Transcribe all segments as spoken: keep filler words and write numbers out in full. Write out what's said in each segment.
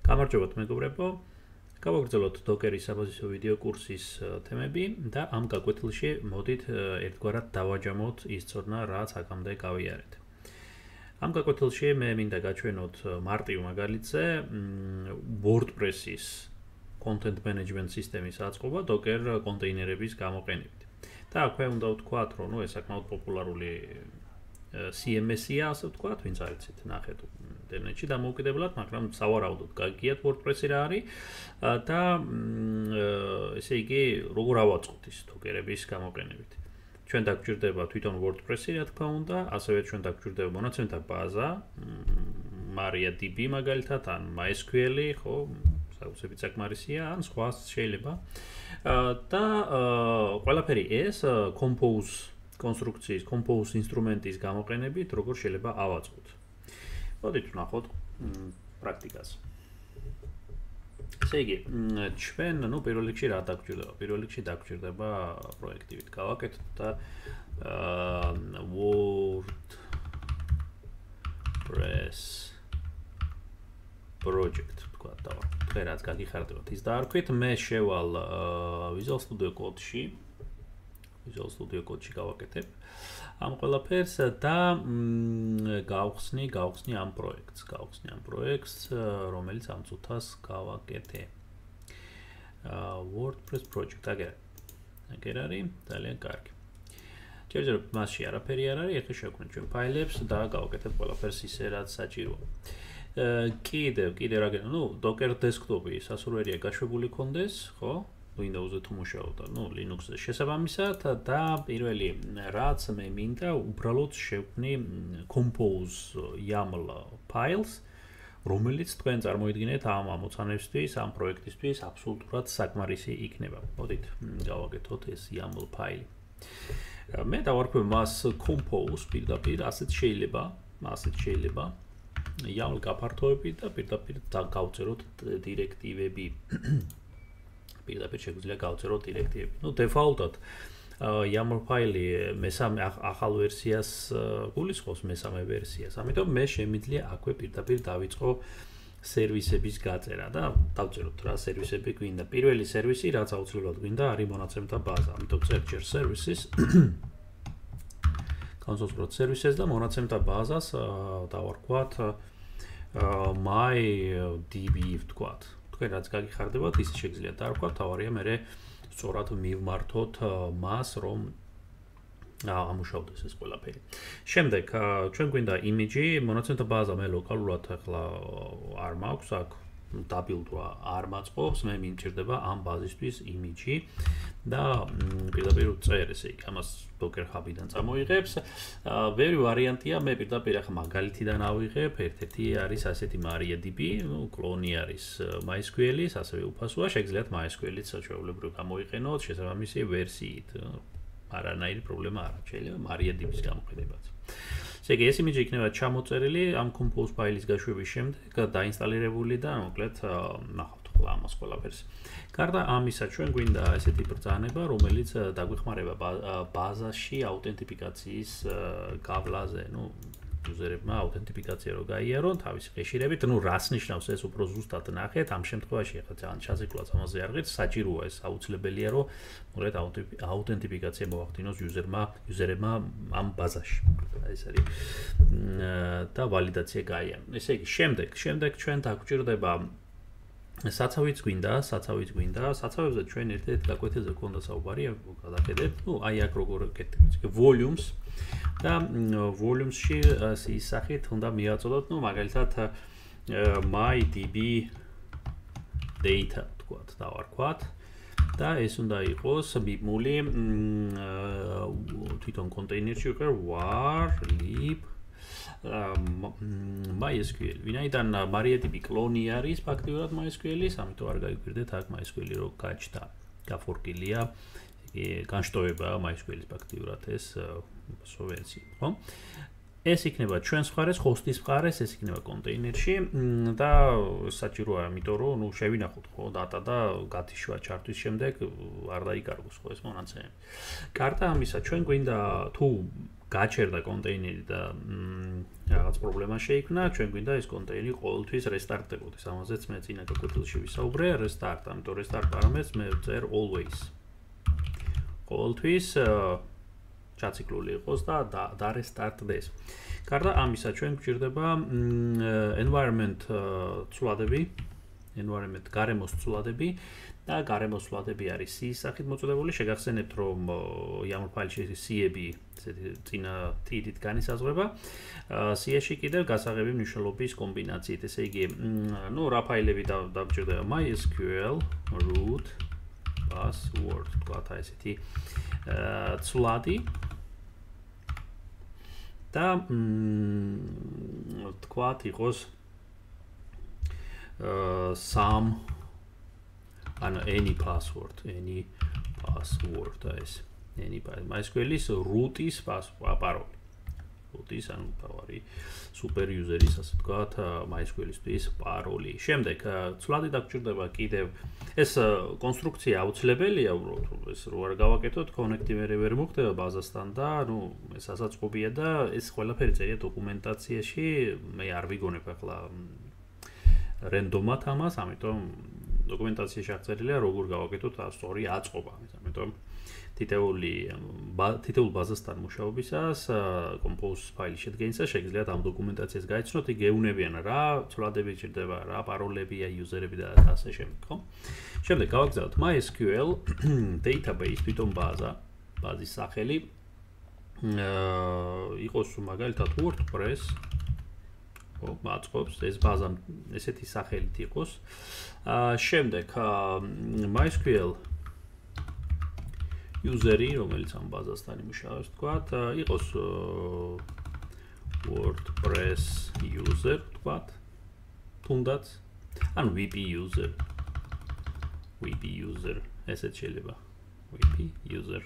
გამარჯობათ მეგობრებო, გავაგრძელოთ დოკერის საბაზისო ვიდეო კურსის თემები და ამ გაკვეთილში მოდით ერთგვარად დავაჯამოთ ის ცოდნა, რაც აქამდე გავიარეთ. ამ გაკვეთილში მე მინდა გაჩვენოთ მარტივ მაგალითზე WordPress-ის content management სისტემის აწყობა Docker კონტეინერების გამოყენებით. და აქვე უნდა ვთქვათ, რომ ნუ ეს საკმაოდ პოპულარული C M S-ია, ასე ვთქვათ, ვინც არიცით, ნახეთ ინტერნეტში დამოუკიდებლად, მაგრამ სავარაუდოდ გაგიათ WordPress-ი რა არის და ესე იგი როგორ ავაწყოთ ის Docker-ების გამოყენებით. ჩვენ დაგჭირდება თვითონ WordPress-ი, რა თქმა უნდა, ასევე ჩვენ დაგჭირდება მონაცემთა ბაზა, MariaDB მაგალითად, ან MySQL-ი, ხო, საოცრებით საკმარისია, ან სხვა შეიძლება. და ყველაფერი ეს Compose კონსტრუქციის, Compose ინსტრუმენტის გამოყენებით, როგორ შეიძლება ავაწყოთ. მოდით ვნახოთ პრაქტიკას. ესე იგი, ჩვენ, ნუ პირველ რიგში რა დაგჭირდება? პირველ რიგში დაგჭირდება პროექტივით გავაკეთოთ და WordPress project თქვა და თქვენ რაც გაგიხარდებათ ის დაარქვით, მე შევალ Visual Studio Code-ში Visual Studio Code-ში გავაკეთებ ამ ყველაფერს და გავხსნი, გავხსნი ამ პროექტს, გავხსნი ამ პროექტს, რომელიც ამ წუთას გავაკეთე. WordPress project, აგერ. აგერ არის, ძალიან კარგი. ჯერჯერ მასში არაფერი არ არის, ეხლა შევქმნით ჩვენ ფაილებს და გავაკეთებ ყველაფერს ისე რაც საჭიროა. კიდევ, კიდევ რა გენა, ნუ Docker desktop-ი სასურველია გაშვებული კონდეს, ხო? Windows-ზე თუ მუშაობ და, ნუ Linux-ზე შესაბამისად და პირველი რაც მე მინდა უბრალოდ შევქმნი Compose YAML files, რომელიც თქვენ წარმოიდგინეთ ამ ამოცანებისთვის, ამ პროექტისთვის აბსოლუტურად საკმარისი იქნება. მოდით გავაკეთოთ ეს YAML file. მე დავარქვევ მას Compose პირდაპირ, ასეთ შეიძლება, ასეთ შეიძლება YAML გაფართოებით და პირდაპირ გავწეროთ დირექტივები. პირდაპირ შეგვიძლია გავწეროთ დირექტივები. ნუ დეფაულტად YAML ფაილი მესამე ახალ ვერსიას გულისხმობს, მესამე ვერსიას. ამიტომ მე შემიძლია აქვე პირდაპირ დავიწყო სერვისების გაწერა და დავწეროთ რა სერვისები გვინდა. პირველი სერვისი, რაც აუცილებლად გვინდა, არის მონაცემთა ბაზა. ამიტომ წერთ ჯერ services განსაზღვროთ services და მონაცემთა ბაზას დავარქვათ MyDB ვთქვათ. თქვენ რაც გაგიხარდებათ, ის შეგიძლიათ დაარქვათ, თავარია მე სწორად მივმართოთ მას, რომ ამუშავდეს ეს ყველაფერი. შემდეგ, ჩვენ გვინდა იმიჯი, მონაცემთა ბაზა მე ლოკალურად ახლა არ მაქვს, აქ დაბილდვა არ მაწყობს, მე მიმჭირდება ამ ბაზისთვის იმიჯი და პირდაპირ წერ, ესე იგი, ამას Docker Hub-დან წამოიღებს. ბევრი ვარიანტია, მე პირდაპირ ახლა მაგალითიდან ავიღებ, ერთ-ერთი არის ასეთი MariaDB, ნუ კლონი არის MySQL-ის, ასევე უფასოა, შეგიძლიათ MySQL-იც ჩვეულებრივ გამოიყენოთ შესაბამისი ვერსიით. არანაირი პრობლემა არ აქვს, შეიძლება MariaDB-ის გამოყენებაც. ესე იგი, ეს იმიჯი იქნება ჩამოწერილი ამ Compose ფაილის გაშვების შემდეგ, დაინსტალირებული და მოკლედ ნახავთ ხოლმე ამას ყველაფერს. გარდა ამისა, ჩვენ გვინდა ესეთი ბრძანება, რომელიც დაგვეხმარება ბაზაში აუთენტიფიკაციის გავლაზე, ნუ იუზერებმა აუთენტიფიკაცია რო გაიარონ თავისი ხეშირებით, ნუ რას ნიშნავს ეს უფრო ზუსტად ნახეთ, ამ შემთხვევაში ახლა ძალიან ჩაზეკლაც ამაზე არ ღირს, საჭიროა ეს აუცილებელია, რომ მოკლედ აუთენტიფიკაცია მოახდინოს იუზერმა, იუზერებმა ამ ბაზაში. ეს არის და ვალიდაცია გაიარონ. ესე იგი, შემდეგ, შემდეგ ჩვენ დაგვჭირდება საცავიც გვინდა, საცავიც გვინდა, საცავებზე ჩვენ ერთ-ერთ გაკვეთილზე გქონდა საუბარი, გადახედეთ, ნუ აი აქ როგორ ვკეთებთ, volumes და volumes-ში ის სახით უნდა მიაწოდოთ, ნუ მაგალითად MyDB data თქვათ, დავარქვათ და ეს უნდა იყოს მიბმული თვითონ კონტეინერში უკვე var lib MySQL. ვინაიდან MariaDB კლონი არის ფაქტიურად MySQL-ის, ამიტომ არ გაიგვირდეთ აქ MySQL-ი რო გაჩნდა, გაფორკილია, განშტოება MySQL-ის ფაქტიურად ეს ვერსია, ხო? ეს იქნება ჩვენს მხარეს, hostis მხარეს, ეს იქნება კონტეინერში და საჭიროა, იმიტომ რომ ნუ შევინახოთ ხო data და გათიშვა ჩართვის შემდეგ არ დაიკარგოს ხო ეს მონაცემები. გარდა ამისა, ჩვენ გვინდა თუ გაჩერდა კონტეინერი და რაღაც პრობლემა შეიქმნა, ჩვენ გვინდა ეს კონტეინერი ყოველთვის რესტარტდებოდეს. ამაზეც მე წინა გაკვეთილში ვისაუბრე, restart, ამიტომ restart პარამეტრს მე ვწერ always. ყოველთვის ჩაციკლული იყოს და და restart-დეს. გარდა ამისა, ჩვენ გვჭირდება environment ცვლადები, environment გარემოს ცვლადები და გარემოს ცვლადები არის C-ის სახით მოწოდებული. შეგახსენებთ, რომ YAML ფაილში C-ები წინა ტიდით განისაზღვრება. C-ში კიდევ გასაღები მნიშვნელობის კომბინაციით, ესე იგი, ნუ რა ფაილები დავჭირდება MySQL, root, password, თქვათ აი ესეთი ცვლადი და თქვათ იყოს some ანუ any password, any password ეს any MySQL-ის root-ის პაროლი. root-ის ანუ თავარი super user-ის ასე ვთქვათ MySQL-ისთვის პაროლი. შემდეგ ცვლადი დაგჭირდება კიდევ ეს კონსტრუქცია აუცილებელია უბრალოდ ეს რო არ გავაკეთოთ connective-ები ვერ მოხდება ბაზასთან და ნუ ეს ასაწყობია და ეს ყველაფერი წერია დოკუმენტაციაში. მე არ ვიგონებ ახლა რენდომად ამას, ამიტომ დოკუმენტაციაში აღწერილია როგორ გავაკეთოთ სწორი აწყობა. ამიტომ თითეული თითოეულ ბაზასთან მუშაობისას compose ფაილის შედგენისას შეგიძლიათ ამ დოკუმენტაციას გაიცნოთ, იქ გეუნებიან რა ცვლადები ჭირდება, რა პაროლებია იუზერები და ასე შემდეგ, ხო? შემდეგ გავაგზავნოთ MySQL database თვითონ ბაზა, ბაზის სახელი იყოს მაგალითად WordPress ხო, მაწყობს ეს ბაზა ესეთი სახელით იყოს. შემდეგ MySQL user-ი, რომელიც ამ ბაზასთან იმუშავებს, თქვათ, იყოს WordPress user, თქვათ, თუნდაც, ანუ V P user, V P user, ესეც შეიძლება, V P user.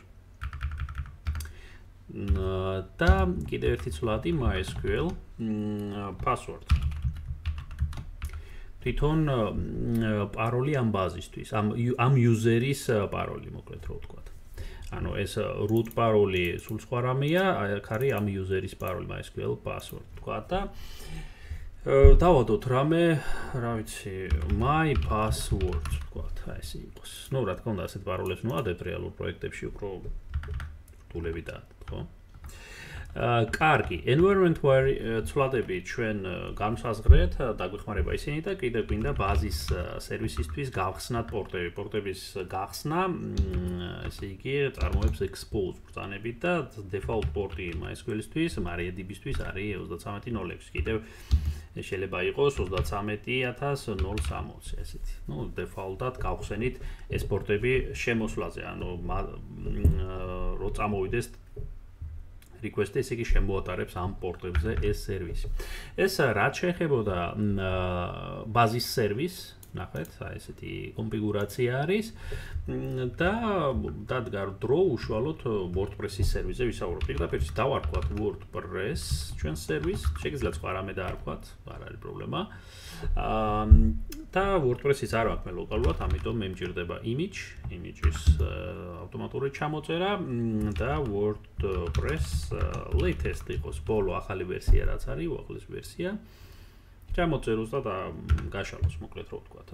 და კიდევ ერთი ცვლადი MySQL password. თვითონ პაროლი ამ ბაზისთვის, ამ ამ user-ის პაროლი, მოკლედ რო ვთქვათ. ანუ ეს root პაროლი სულ სხვა რამეა, აქ არის ამ user-ის პაროლი MySQL password, თქვა და დავადოთ რამე, რა ვიცი, my password, თქვათ, აი ეს იყოს. ნუ რა თქმა უნდა, ასეთ პაროლებს ნუადებ რეალურ პროექტებში უფრო რთულები და ხო? კარგი, environment ცვლადები ჩვენ განსაზღვრეთ, დაგვეხმარება ისინი და კიდევ გვინდა ბაზის სერვისისთვის გავხსნათ პორტები. პორტების გახსნა, ესე იგი, წარმოებს expose ბრძანებით და default პორტი MySQL-ისთვის, MariaDB-ისთვის არის ოცდათრამეტი ნული ექვსი. კიდევ შეიძლება იყოს ოცდათრამეტი ათას ნული სამოცი, ესეთი. ნუ default-ად გავხსენით ეს პორტები შემოსვლაზე, ანუ რო წამოვიდეს request-ი, ესე იგი შემოატარებს ამ პორტებზე ეს სერვისი. ეს რაც შეეხებოდა ბაზის სერვისს, ნახეთ, აი ესეთი კონფიგურაცია არის და დადგა დრო უშუალოდ WordPress-ის სერვისზე ვისაუბროთ. პირდაპირ დავარქვათ WordPress ჩვენ სერვისს, შეგიძლიათ სხვა რამე დაარქვათ, არ არის პრობლემა. და WordPress-ის არ აქვს მე ლოკალურად, ამიტომ მე მჭირდება image, image-ის ავტომატური ჩამოწერა და WordPress latest იყოს ბოლო ახალი ვერსია რაც არის, უახლეს ვერსია. ჩამოწეროს და გაშალოს, მოკლედ რო ვთქვათ.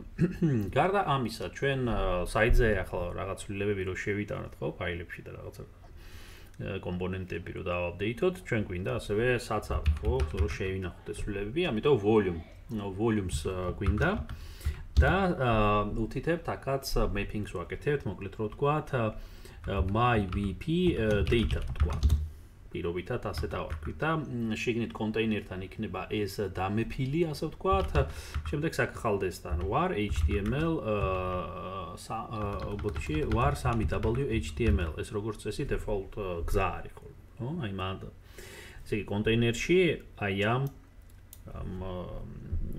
გარდა ამისა, ჩვენ საიტზე ახლა რაღაც ცვლილებები რო შევიტანოთ, ხო, ფაილებში და რაღაცა კომპონენტები რო დავაპდეითოთ, ჩვენ გვინდა ასევე საცავი, ხო, რო შევინახოთ ეს ცვლილებები, ამიტომ volume, volumes გვინდა და უთითებთ აქაც mappings ვაკეთებთ, მოკლედ რო ვთქვათ, myvp data ვთქვათ. პირობითად ასე დავარქვით და შეგნით კონტეინერთან იქნება ეს დამეფილი, ასე ვთქვათ. შემდეგ საქხალდესთან var html ბოტში var სამი w html. ეს როგორც წესი default გზა არის ხოლმე, ხო? აი მან ესე იგი კონტეინერში აი ამ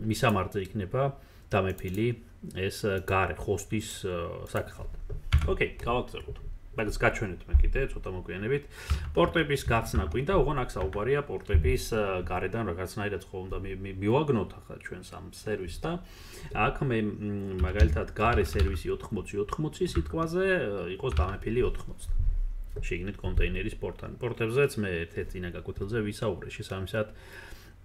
მისამართზე იქნება დამეფილი ეს გარე host-ის საქხალდე. ოკეი, გავაგზავნოთ. მაგას გაჩვენეთ მე კიდე ცოტა მოგვიანებით. პორტების გახსნა გვინდა, ოღონ აქ საუბარია პორტების გარედან რაღაცნაირად ხო უნდა მივაგნოთ ახლა ჩვენ სამ სერვისს და აქ მე მაგალითად გარე სერვისი ოთხმოცი ოთხმოცი სიტყვაზე იყოს დამეფილი ოთხმოცი. შეგინეთ კონტეინერის პორტალი. პორტებზეც მე ერთ-ერთ წინა გაკვეთილზე ვისაუბრე შესაბამისად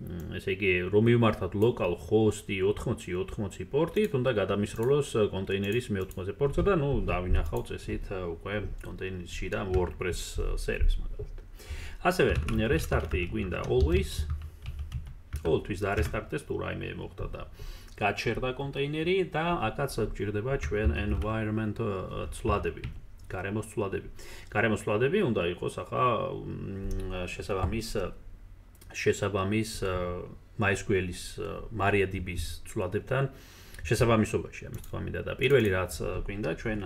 ესე იგი რომ მივმართოთ local host-ი ოთხმოცი ოთხმოცი პორტით, უნდა გადამისროლოს კონტეინერის მეოთხმოცე პორტზე და ნუ დავინახავ წესით უკვე კონტეინერის შიდა WordPress სერვისს მაგალითად. ასევე restart-ი გვინდა always ყოველთვის დარესტარტდეს თუ რაიმე მოხდა და გაჩერდა კონტეინერი და აქაც გვჭირდება ჩვენ environment ცვლადები, გარემოს ცვლადები. გარემოს ცვლადები უნდა იყოს ახლა შესაბამის შესაბამის MySQL-ის MariaDB-ის ცვლადებთან შესაბამისობაში ამის თქვა მინდა და პირველი რაც გვინდა ჩვენ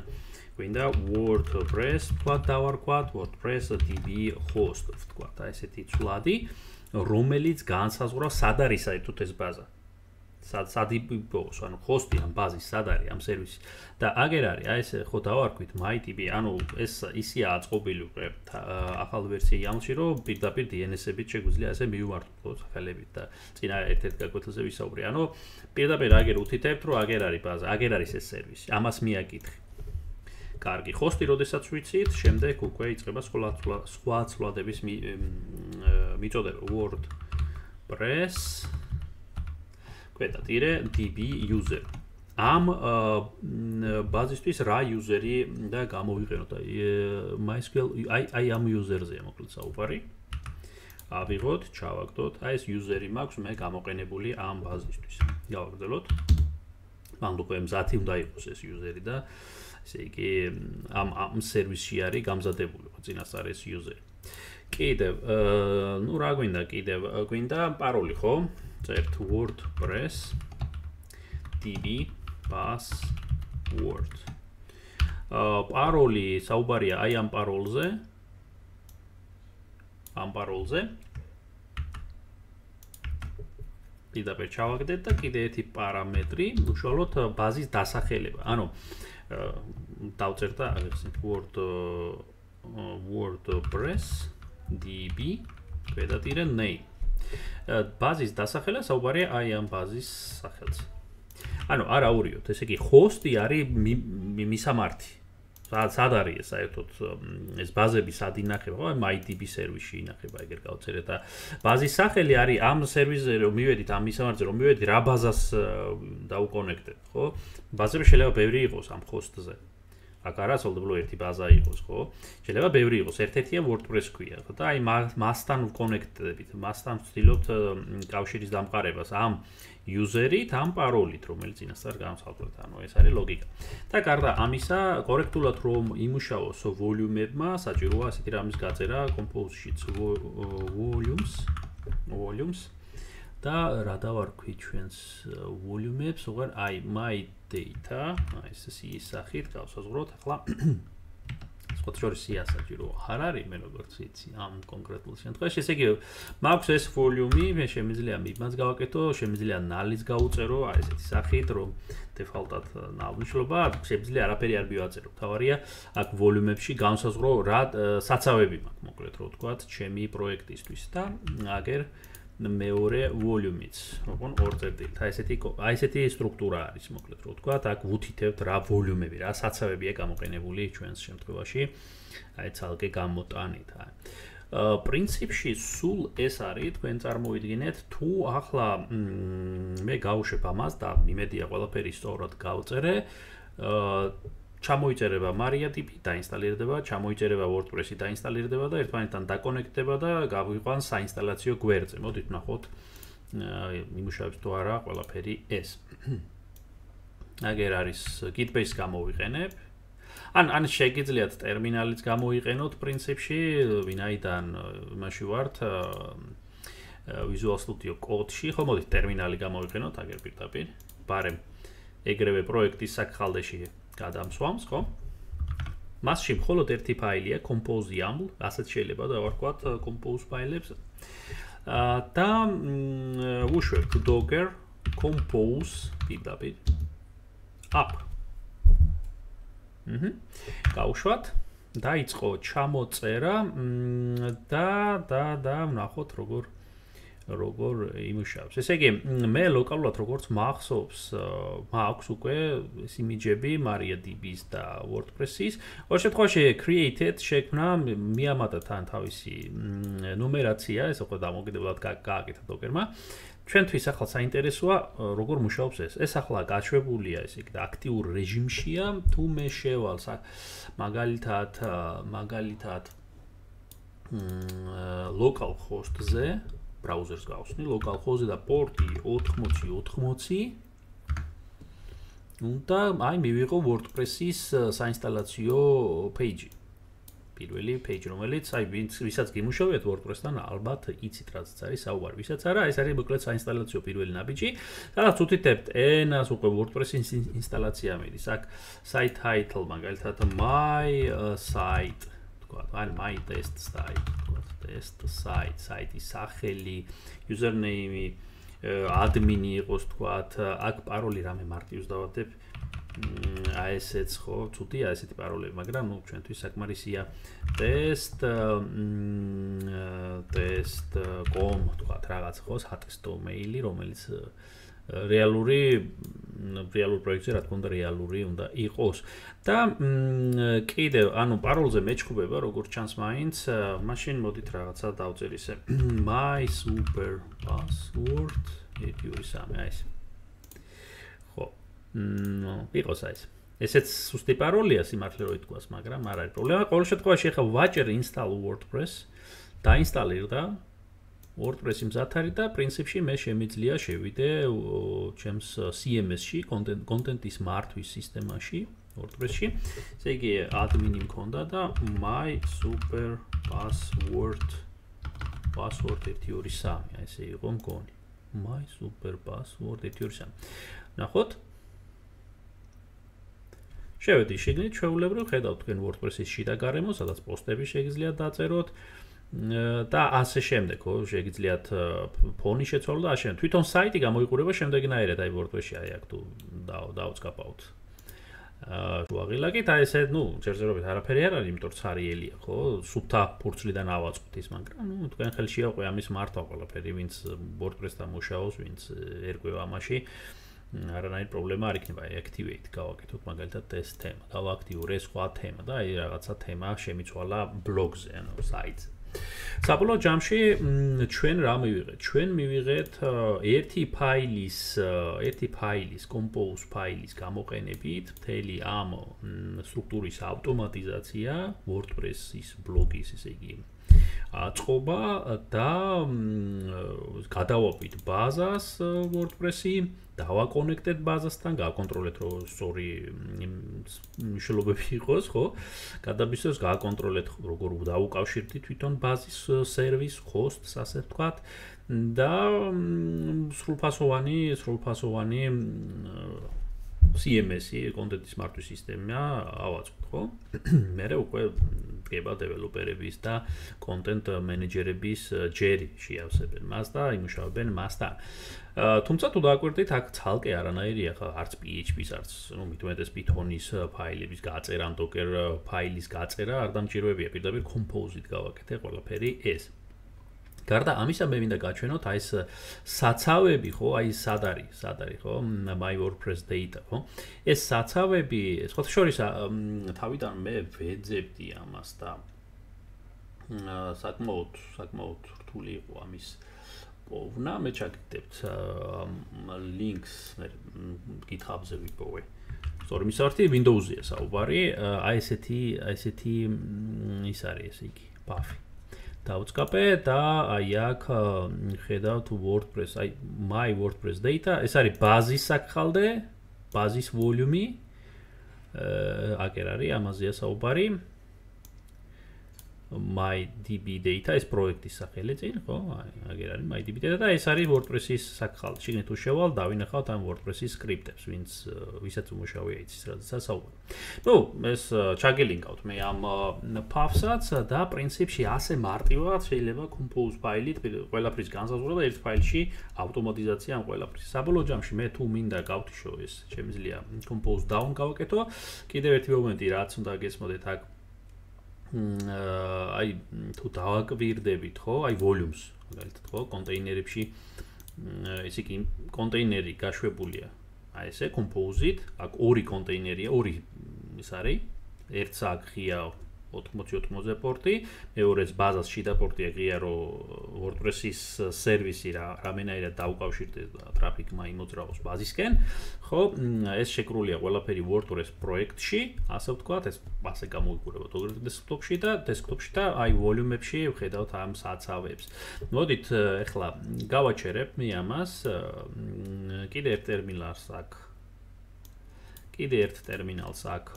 გვინდა WordPress თქვა დავარქვათ WordPress db host თქვა და ესეთი ცვლადი რომელიც განსაზღვრავს სად არის საერთოდ ეს ბაზა სად სად იპოვოს ანუ host-ი ამ ბაზის სად არის ამ სერვისი და აგერ არის აი ეს ხო დავარქვით MyDB ანუ ეს ისია აწყობილი უკვე ახალ ვერსია YAML-ში რომ პირდაპირ D N S-ებით შეგვიძლია ასე მივმართოთ სახელებით და წინა ერთ-ერთ გაკვეთილზე ვისაუბრე ანუ პირდაპირ აგერ უთითებთ რომ აგერ არის ბაზა აგერ არის ეს სერვისი ამას მიაკითხი კარგი host-ი როდესაც ვიცით შემდეგ უკვე იწყება სხვა სხვა ცვლადების მიწოდება WordPress კვეთატირე db user ამ ბაზისთვის რა user-ი და გამოვიყენოთ აი MySQL აი აი ამ user-ზე მოკლედ საუბარი ავიღოთ ჩავაგდოთ აი ეს user-ი მაქვს მე გამოყენებული ამ ბაზისთვის გავაგრძელოთ მან უკვე მზათი უნდა იყოს ეს user-ი და ესე იგი ამ ამ სერვისში არის გამზადებული ხო წინასწარ ეს user-ი კიდევ ნუ რა გვინდა კიდევ გვინდა პაროლი ხო წერთ WordPress db password პაროლი საუბარია აი ამ პაროლზე ამ პაროლზე პირდაპირ ჩავაგდეთ და კიდე ერთი პარამეტრი უშუალოდ ბაზის დასახელება ანუ დავწერთ და აგიხსნით word WordPress db კვედატირე name ბაზის დასახელება საუბარია აი ამ ბაზის სახელზე. ანუ არა აურიოთ, ესე იგი host-ი არის მისამართი. სად არის ეს საერთოდ ეს ბაზები სად ინახება, ხო? MyDB სერვისში ინახება, ეგერ გავწერეთ და ბაზის სახელი არის ამ სერვისზე რომ მივედით ამ მისამართზე რომ მივედით რა ბაზას დაუკონექტებთ, ხო? ბაზები შეიძლება ბევრი იყოს ამ host-ზე. აქ არა სოლდებულო ერთი ბაზა იყოს, ხო? შეიძლება ბევრი იყოს, ერთ-ერთია WordPress ქვია, ხო? და აი მასთან ვკონექტდებით, მასთან ვცდილობთ კავშირის დამყარებას ამ user-ით, ამ პაროლით, რომელიც წინასწარ განსხვავებთ, ანუ ეს არის ლოგიკა. და გარდა ამისა, კორექტულად რომ იმუშაოს volume-ებმა, საჭიროა ასეთი რამის გაწერა compose-შიც volumes, volumes და რა დავარქვი ჩვენს volume-ებს, უღარ აი my data, აი ეს ის სახით გავსაზღვროთ, ახლა სხვათა შორის საჭირო არ არის მე როგორც ვიცი ამ კონკრეტულ შემთხვევაში, ესე იგი მაქვს ეს volume-ი, მე შემიძლია მიბმაც გავაკეთო, შემიძლია null-იც გავუწერო, აი ესეთი სახით, რომ default-ად ნავნიშნულობა, შემიძლია არაფერი არ მივაწერო. თავარია აქ volume-ებში განსაზღვრო რა საცავები მაქვს, მოკლედ რო ვთქვათ, ჩემი პროექტისთვის და აგერ მეორე volume-იც, ოღონ ორ წერტილით. აი ესეთი აი ესეთი სტრუქტურა არის, მოკლედ რო ვთქვათ, აქ ვუთითებთ რა volume-ები, რა საცავებია გამოყენებული ჩვენს შემთხვევაში, აი ცალკე გამოტანით. აი პრინციპში სულ ეს არის, თქვენ წარმოიდგინეთ, თუ ახლა მე გავუშვებ ამას და იმედია ყველაფერი სწორად გავწერე, ჩამოიწერება MariaDB დაინსტალირდება, ჩამოიწერება WordPress-ი დაინსტალირდება და ერთმანეთთან დაკონექტდება და გავიყვანს საინსტალაციო გვერდზე. მოდით ვნახოთ იმუშავებს თუ არა ყველაფერი ეს. აგერ არის Git-base გამოვიყენებ. ან ან შეგიძლიათ ტერმინალიც გამოიყენოთ პრინციპში, ვინაიდან იმაში ვართ Visual Studio Code-ში, ხო მოდით ტერმინალი გამოვიყენოთ აგერ პირდაპირ. ბარემ ეგრევე პროექტის საკხალდეში გადამსვამს, ხო? მასში მხოლოდ ერთი ფაილია compose YAML, ასეთ შეიძლება დავარქვათ compose ფაილებს. და ვუშვებთ docker compose პირდაპირ up. აჰა. გავუშვათ, დაიწყო ჩამოწერა და და და ვნახოთ როგორ როგორ იმუშავებს. ესე იგი, მე ლოკალურად როგორც მახსოვს, მაქვს უკვე იმიჯები MariaDB-ის და WordPress-ის. ყოველ შემთხვევაში created შექმნა მიამატა თან თავისი ნუმერაცია, ეს უკვე დამოკიდებლად გააკეთა დოკერმა. ჩვენთვის ახლა საინტერესოა როგორ მუშაობს ეს. ეს ახლა გაშვებულია, ესე იგი, აქტიურ რეჟიმშია, თუ მე შევალ მაგალითად, მაგალითად localhost-ზე, ბრაუზერს გავხსნი, localhost-ზე და პორტი ოთხმოცი ოთხმოცი. უნდა აი მივიღო WordPress-ის საინსტალაციო page-ი. პირველი page, რომელიც აი ვისაც გიმუშავებთ WordPress-თან, ალბათ იცით რაც არის საუბარი. ვისაც არა, ეს არის მოკლედ საინსტალაციო პირველი ნაბიჯი. სადაც უთითებთ ენას, უკვე WordPress-ის ინსტალაცია მიდის. აქ site title, მაგალითად my site, თქვა, ან my test site, თქვა, test site, site-ის სახელი, username-ი, admin-ი იყოს, თქვა, აქ პაროლი რამე მარტივს დავადებ. აი ესეც ხო, ცუდია ესეთი პაროლები, მაგრამ ნუ ჩვენთვის საკმარისია test test.com თქვა რაღაც ხო, სატესტო მეილი, რომელიც რეალური რეალურ პროექტზე რა თქმა უნდა რეალური უნდა იყოს. და კიდევ, ანუ პაროლზე მეჩხუბება, როგორც ჩანს მაინც, მაშინ მოდით რაღაცა დავწერ ისე my super password ერთი ორი სამი აი ეს. ნო, იყოს ეს. ესეც სუსტი პაროლია სიმართლე რო ითქვას, მაგრამ არ არის პრობლემა. ყოველ შემთხვევაში ახლა ვაჭერ install WordPress, დაინსტალირდა WordPress-ი მზად არის და პრინციპში მე შემიძლია შევიდე ჩემს C M S-ში, კონტენტის მართვის სისტემაში, WordPress-ში. ესე იგი, admin-ი მქონდა და my super password password ერთი ორი სამი, აი ესე იყო მგონი. my super password ერთი ორი სამი. ნახოთ. შევედი შიგნით, ჩვეულებრივ ხედავთ თქვენ WordPress-ის შიდა გარემო, სადაც პოსტები შეგიძლიათ დაწეროთ და ასე შემდეგ, ხო, შეგიძლიათ ფონი შეცვალოთ და ასე. თვითონ საიტი გამოიყურება შემდეგნაირად, აი WordPress-ში აი აქ თუ დავწკაპავთ. აა, შუაღილაკით, აი ესე, ნუ, ჯერჯერობით არაფერი არ არის, იმიტომ რომ ცარიელია, ხო? სუფთა ფურცლიდან ავაწყოთ ის, მაგრამ ნუ თქვენ ხელშია უკვე ამის მართვა ყველაფერი, ვინც WordPress-თან მუშაობს, ვინც ერკვევა ამაში. არანაირი პრობლემა არ იქნება, აი activate გავაკეთოთ მაგალითად ეს თემა, გავაქტიურე სხვა თემა და აი რაღაცა თემა შემიცვალა ბლოგზე, ანუ საიტზე. საბოლოო ჯამში ჩვენ რა მივიღეთ? ჩვენ მივიღეთ ერთი ფაილის, ერთი ფაილის, compose ფაილის გამოყენებით მთელი ამ სტრუქტურის ავტომატიზაცია, WordPress-ის ბლოგის, ესე იგი, აწყობა და გადავაყვით ბაზას WordPress-ი, დავაკონექტეთ ბაზასთან, გავაკონტროლეთ რომ სწორი მნიშვნელობები იყოს, ხო? გადაბისოს გავაკონტროლეთ როგორ დავუკავშირდით თვითონ ბაზის სერვის, host-ს, ასე ვთქვათ და სრულფასოვანი, სრულფასოვანი C M S-ი, კონტენტის მართვის სისტემა ავაწყოთ, ხო? მერე უკვე დგება დეველოპერების და კონტენტ მენეჯერების ჯერი შეავსებენ მას და იმუშავებენ მასთან. თუმცა თუ დააკვირდით, აქ ცალკე არანაირია ხა არც P H P-ს, არც ნუ მით უმეტეს Python-ის ფაილების გაწერა, Docker ფაილის გაწერა არ დამჭიროებია, პირდაპირ Compose-ით გავაკეთე ყველაფერი ეს. გარდა ამისა მე მინდა გაჩვენოთ აი ეს საცავები, ხო, აი სად არის, სად არის, ხო, my WordPress data, ხო? ეს საცავები, სხვათა შორის თავიდან მე ვეძებდი ამას და საკმაოდ, საკმაოდ რთული იყო ამის პოვნა, მე ჩაგდებთ links მე GitHub-ზე ვიპოვე. სწორი მისართი Windows-ია საუბარი, აი ესეთი, აი ესეთი ის არის, ესე იგი, buff-ი. დავწკაპე და აი აქ ხედავთ WordPress, აი my WordPress data, ეს არის ბაზის საკხალდე, ბაზის ვოლიუმი. აქ არის, ამაზეა საუბარი. MyDB data, ეს პროექტის სახელი წინ, ხო? აი, აგერ არის MyDB data და ეს არის WordPress-ის საკხალდი. შიგნით თუ შევალ, დავინახავთ ამ WordPress-ის სკრიპტებს, ვინც ვისაც უმუშავია იცის, რადგან საუბარი. ნუ, ეს ჩაგელინკავთ მე ამ path-საც და პრინციპში ასე მარტივად შეიძლება compose ფაილით ყველაფრის განსაზღვრება ერთ ფაილში ავტომატიზაცია ამ ყველაფრის. საბოლოო ჯამში მე თუ მინდა გავთიშო ეს, შემიძლია compose down გავაკეთო. კიდევ ერთი მომენტი, რაც უნდა გესმოდეთ აქ აი თუ დავაკვირდებით, ხო, აი volumes, მაგალითად ხო კონტეინერებში ესე იგი კონტეინერი გაშვებულია აი ესე compose-ით, აქ ორი კონტეინერია, ორი ის არის, ერთს აქ ღია ოთხმოცი ოთხმოცი პორტი, მეორეც ბაზას შიდა პორტია ღია რომ WordPress-ის სერვისი რა რამენაირად დაუკავშირდეს და ტრაფიკმა იმოძრაოს ბაზისკენ, ხო, ეს შეკრულია ყველაფერი WordPress პროექტში, ასე ვთქვათ, ეს ასე გამოიყურება დესკტოპში და დესკტოპში და აი ვოლიუმებში ვხედავთ ამ საცავებს. მოდით ახლა გავაჩერებ მე ამას, კიდე ერთ ტერმინალს აქ კიდე ერთ ტერმინალს აქ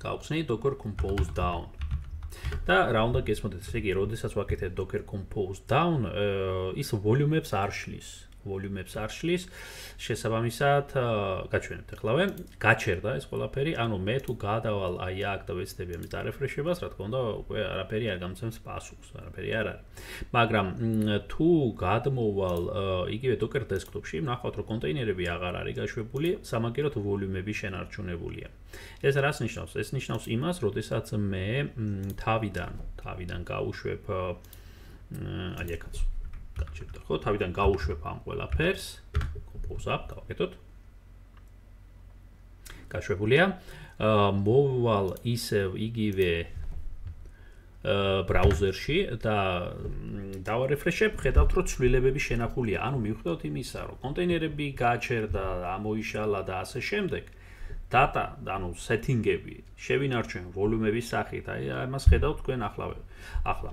გავხსნით Docker Compose Down. და რა უნდა გესმოდეთ, ესე იგი, როდესაც ვაკეთებ Docker Compose Down, ის ვოლიუმებს არ შლის. ვოლიუმებს არ შლის. შესაბამისად, გაჩვენებთ ახლავე, გაჩერდა ეს ყველაფერი, ანუ მე თუ გადავალ აი აქ და ვეცდები ამის დარეფრეშებას, რა თქმა უნდა, უკვე არაფერი არ გამცემს პასუხს, არაფერი არ არის. მაგრამ თუ გადმოვალ იგივე Docker desktop-ში, ნახავთ, რომ კონტეინერები აღარ არის გაშვებული, სამაგეროთ ვოლიუმები შენარჩუნებულია. ეს რას ნიშნავს? ეს ნიშნავს იმას, როდესაც მე თავიდან, თავიდან გავუშვებ აი აქაც გაჩერდა, ხო, თავიდან გავუშვებ ამ ყველაფერს, compose up, გავაკეთოთ. გაშვებულია. მოვალ ისევ იგივე ბრაუზერში და დავარეფრეშებ, ხედავთ, რომ ცვლილებები შენახულია. ანუ მივხვდეთ იმისა, რომ კონტეინერები გაჩერდა, ამოიშალა და ასე შემდეგ. data, ანუ setting-ები შევინარჩუნე ვოლიუმების სახით, აი ამას ხედავთ თქვენ ახლავე. ახლა,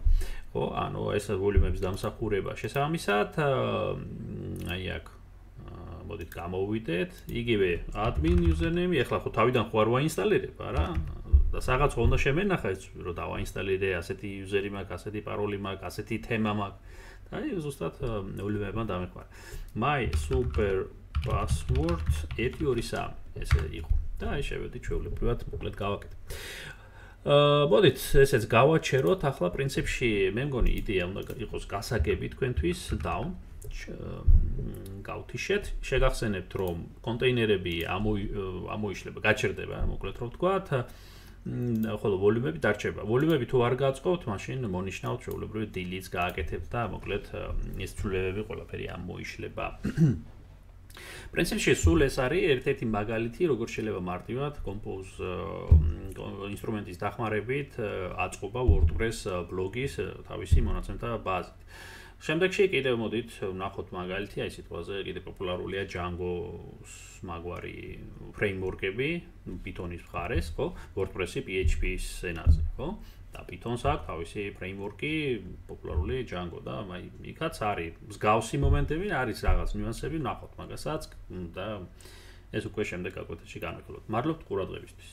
ხო, ანუ ეს ვოლიუმების დამსახურება შესაბამისად, აი აქ მოდით გამოვიდეთ, იგივე admin username, ახლა ხო თავიდან ხო არ ვაინსტალირებ, არა? და რაღაც უნდა შემენახა ეს, რომ დავაინსტალირე, ასეთი user-ი მაქვს, ასეთი paroli მაქვს, ასეთი თემა მაქვს. და აი ზუსტად ვოლიუმებმა დამეხვარა. my super password ერთი ორი სამი ესე იყო. და აი შევედით ჩვეულებრივად მოკლედ გავაკეთე. აა მოდით ესეც გავაჩეროთ, ახლა პრინციპში მე მგონი იდეა უნდა იყოს გასაგები თქვენთვის down გავთიშეთ, შეგახსენებთ რომ კონტეინერები ამოიშლება, გაჩერდება, მოკლედ რომ ვთქვათ, ხოლო ვოლიუმები დარჩება. ვოლიუმები თუ არ გააწყობთ, მაშინ მონიშნავთ ჩვეულებრივად delete-ს გააკეთებთ და მოკლედ ეს ცვლილებები ყველაფერი ამოიშლება. პრინციპში სულ ეს არის ერთ-ერთი მაგალითი, როგორც შეიძლება მარტივად Compose ინსტრუმენტის დახმარებით აწყობა WordPress ბლოგის თავისი მონაცემთა ბაზით. შემდეგში კიდევ მოდით ვნახოთ მაგალითი, აი სიტყვაზე კიდევ პოპულარულია Django-ს მაგვარი ფრეიმვორკები, Python-ის მხარეს, ხო? WordPress-ი P H P-ის ენაზე, ხო? და Python-ს აქვს თავისი ფრეიმვორკი, პოპულარული Django და აი იქაც არის მსგავსი მომენტები, არის რაღაც ნიუანსები, ვნახოთ მაგასაც და ეს უკვე შემდეგ გაკვეთილში განვიხილოთ. მადლობთ ყურადღებისთვის.